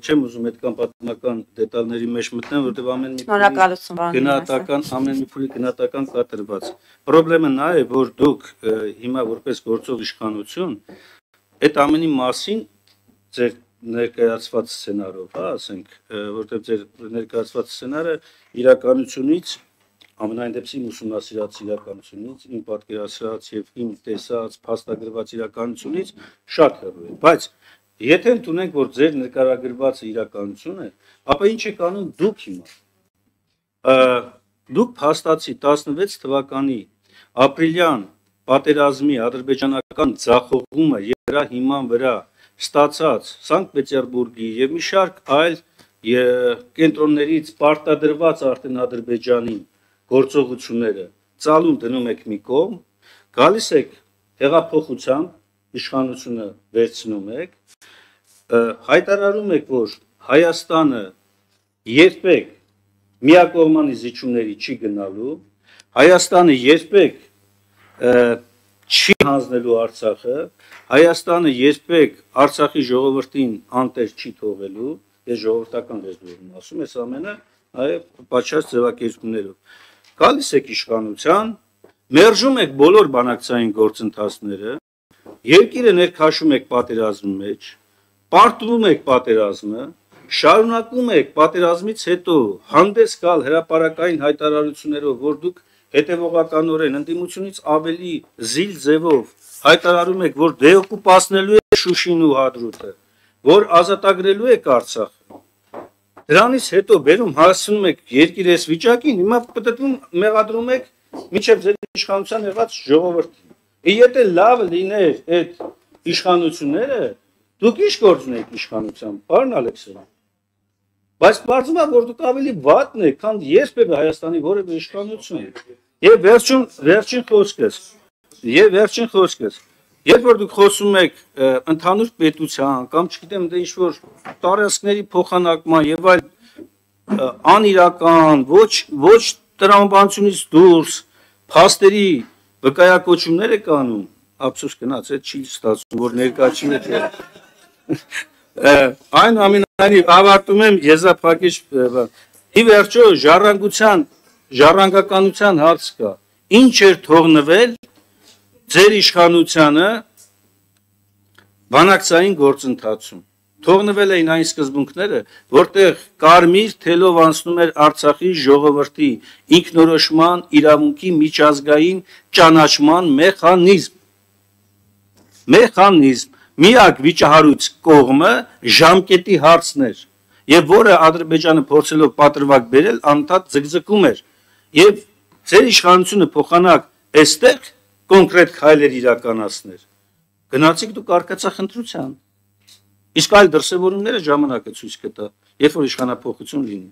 Չեմ ուզում այդքան պատմական դետալների մեջ մտնեմ, որտեղ ամեն մի փուլի գնահատական կատարված։ Պրոբլեմը նա է, որ դուք հիմա որպես գործող իշխանություն այդ ամենի մասին ձեր ներկայացված սցենարով, ասենք, որտեղ ձեր ներկայացված սցենարը իրականությունից ամենայն դեպքում ուսումնասիրած իրականությունից, իմ պատկերացրած եւ իմ տեսած փաստագրված իրականությունից շատ հեռու է, բայց եթե ընդունենք, որ ձեր նկարագրվածը իրականություն է, ապա ինչ եք անում դուք հիմա։ Դուք փաստացի 16 թվականի ապրիլյան պատերազմի ադրբեջանական ձախողումը եւ դրա հիման վրա ստացած Սանկտ Պետերբուրգի եւ մի շարք այլ կենտրոններից պարտադրված արդեն Ադրբեջանին գործողությունները ծալում դնում եք մի կողմ, գալիս եք հեղափոխությամբ իշխանությունը վերցնում եք, հայտարարում եք, որ Հայաստանը երբեք միակողմանի զիջումների չի գնալու, Հայաստանը երբեք չի հանձնելու Արցախը, Հայաստանը երբեք Արցախի ժողովրդին անտեր չի թողելու, ես ժողովրդական լեզվով եմ ասում, այս ամենը պատշաճ ձևակերպումներով։ Գալիս եք իշխանության, մերժում եք բոլոր բանակցային գործընթացները, երկիրը ներքաշում եք պատերազմի մեջ, պարտվում եք պատերազմը, շարունակում եք պատերազմից հետո հանդես գալ հրապարակային հայտարարություններով, որ դուք հետևողականորեն ընդդիմությունից ավելի զիլ ձևով հայտարարում եք, որ դեօկուպացնելու եք Շուշին ու Հադրութը, որ ազատագրելու եք Արցախը։ Դրանից հետո բերում հասցնում եք երկիրը այս վիճակին, հիմա պատտվում մեղադրում եք մինչև ձեր իշխանության եղած ժողովրդին։ Եթե լավ լիներ այդ իշխանությունները, դուք ինչ գործունեիք իշխանությամբ, պարոն Ալեքսեյան։ Բայց պարզվում է, որ դուք ավելի վատն եք, քան երբևէ Հայաստանի որևէ իշխանություն։ Եվ վերջին խոսքս, երբ որ դուք խոսում եք ընդհանուր պետության կամ չգիտեմ դե ինչ-որ տարածքների փոխանակման եւ այլ անիրական, ոչ տրամաբանությունից դուրս փաստերի վկայակոչումներ եք անում, ափսոս գնաց, այդ չի ստացվում, որ ներկա չի եք։ Այնուամենայնիվ ավարտում եմ եզրափակիչ ի վերջո ժառանգականության հարց կա, ինչ էր թողնվել ձեր իշխանությանը բանակցային գործընթացում, թողնվել էին այն սկզբունքները, որտեղ կարմիր թելով անցնում էր Արցախի ժողովրդի ինքնորոշման իրավունքի միջազգային ճանաչման մեխանիզմ, միակ վիճահարույց կողմը ժամկետի հարցն էր, եւ որը Ադրբեջանը փորձելով պատրվակ բերել անդադ ձգձգում էր, եւ ձեր իշխանությունը փոխանակ այստեղ կոնկրետ քայլեր իրականացներ, գնացիք դուք արկածախնդրության, իսկ այլ դրսևորումները ժամանակը ցույց կտա, երբ որ իշխանափոխություն լինի։